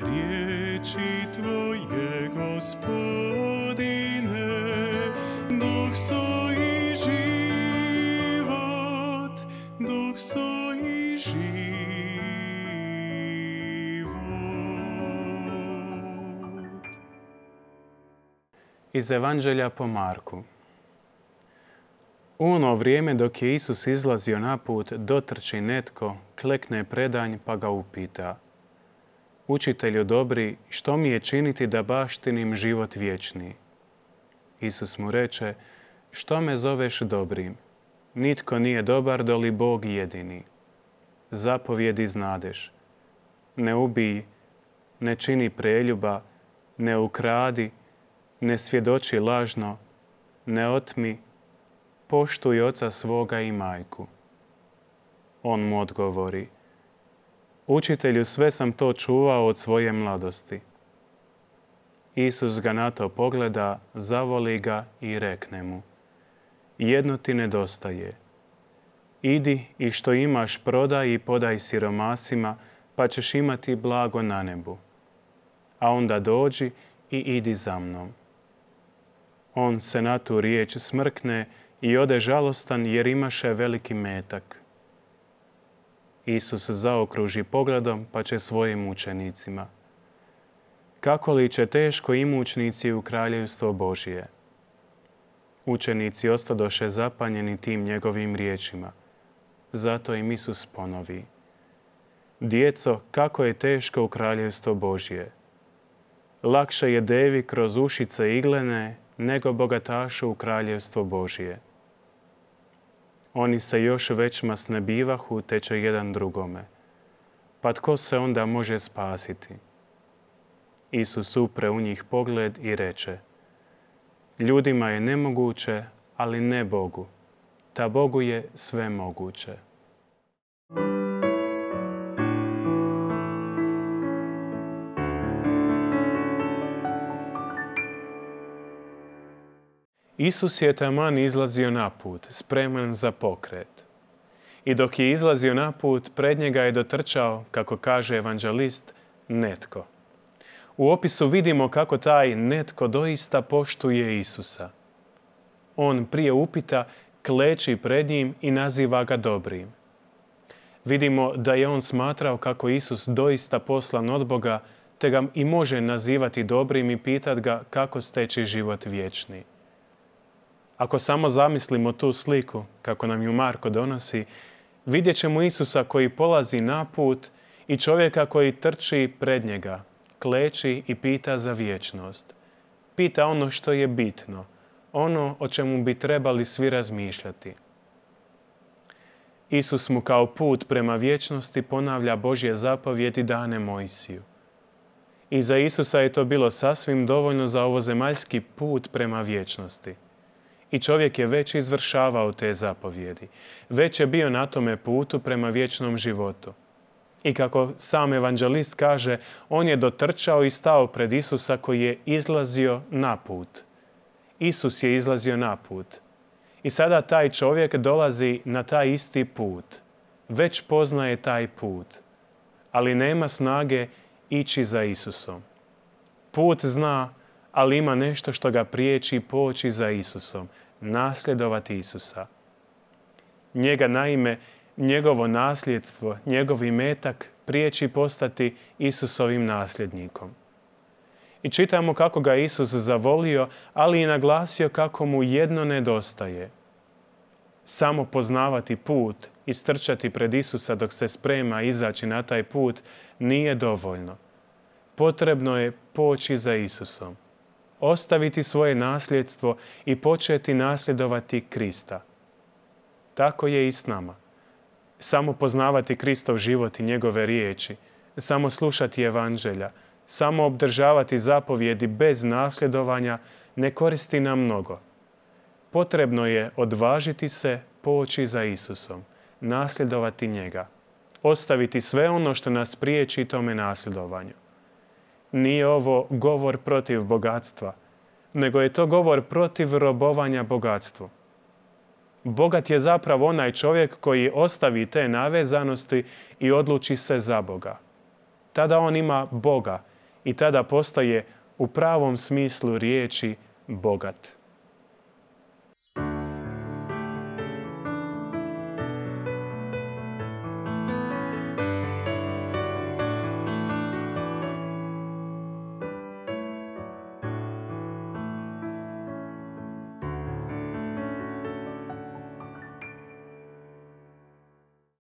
Riječi Tvoje, Gospodine, duh su i život, duh su i život. Iz Evanđelja po Marku. U ono vrijeme dok je Isus izlazio na put, dotrči netko, klekne predanj pa ga upita: Učitelju dobri, što mi je činiti da baštinim život vječni? Isus mu reče: Što me zoveš dobrim? Nitko nije dobar doli Bog jedini. Zapovjedi znadeš: ne ubij, ne čini preljuba, ne ukradi, ne svjedoči lažno, ne otmi, poštuj oca svoga i majku. On mu odgovori: Učitelju, sve sam to čuvao od svoje mladosti. Isus ga na to pogleda, zavoli ga i rekne mu: jedno ti nedostaje. Idi i što imaš prodaj i podaj siromasima, pa ćeš imati blago na nebu. A onda dođi i idi za mnom. On se na tu riječ smrkne i ode žalostan jer imaše veliki metak. Isus zaokruži pogledom pa će svojim učenicima: kako li će teško imućnici u kraljevstvo Božje? Učenici ostadoše zapanjeni tim njegovim riječima. Zato im Isus ponovi: djeco, kako je teško u kraljevstvo Božje. Lakše je devi kroz ušice iglene nego bogatašu u kraljevstvo Božje. Oni se još većma snebivahu, te će jedan drugome. Pa tko se onda može spasiti? Isus upre u njih pogled i reče: ljudima je nemoguće, ali ne Bogu. Ta Bogu je sve moguće. Isus je taman izlazio na put, spreman za pokret. I dok je izlazio na put, pred njega je dotrčao, kako kaže evanđelist, netko. U opisu vidimo kako taj netko doista poštuje Isusa. On prije upita kleči pred njim i naziva ga dobrim. Vidimo da je on smatrao kako Isus doista poslan od Boga, te ga i može nazivati dobrim i pitat ga kako steći život vječni. Ako samo zamislimo tu sliku, kako nam ju Marko donosi, vidjet ćemo Isusa koji polazi na put i čovjeka koji trči pred njega, kleči i pita za vječnost. Pita ono što je bitno, ono o čemu bi trebali svi razmišljati. Isus mu kao put prema vječnosti ponavlja Božje zapovjedi dane Mojsiju. I za Isusa je to bilo sasvim dovoljno za ovozemaljski put prema vječnosti. I čovjek je već izvršavao te zapovjedi. Već je bio na tome putu prema vječnom životu. I kako sam evanđelist kaže, on je dotrčao i stao pred Isusa koji je izlazio na put. Isus je izlazio na put. I sada taj čovjek dolazi na taj isti put. Već poznaje taj put. Ali nema snage ići za Isusom. Put zna, ali ima nešto što ga priječi poći za Isusom. Nasljedovati Isusa. Njega naime, njegovo nasljedstvo, njegov imetak priječi postati Isusovim nasljednikom. I čitamo kako ga Isus zavolio, ali i naglasio kako mu jedno nedostaje. Samo poznavati put i strčati pred Isusa dok se sprema izaći na taj put nije dovoljno. Potrebno je poći za Isusom. Ostaviti svoje nasljedstvo i početi nasljedovati Krista. Tako je i s nama. Samo poznavati Kristov život i njegove riječi, samo slušati evanđelja, samo obdržavati zapovjedi bez nasljedovanja ne koristi nam mnogo. Potrebno je odvažiti se poći za Isusom, nasljedovati njega, ostaviti sve ono što nas priječi tome nasljedovanju. Nije ovo govor protiv bogatstva, nego je to govor protiv robovanja bogatstvu. Bogat je zapravo onaj čovjek koji ostavi te navezanosti i odluči se za Boga. Tada on ima Boga i tada postaje u pravom smislu riječi bogat.